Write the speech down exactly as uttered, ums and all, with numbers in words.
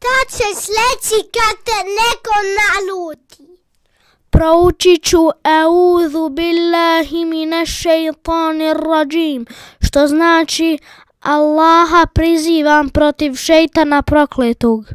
Šta ćeš reći kad te neko naluti? Proučit ću Eûzu billahi mine šeitanir rajim, što znači Allaha prizivam protiv šejtana prokletog.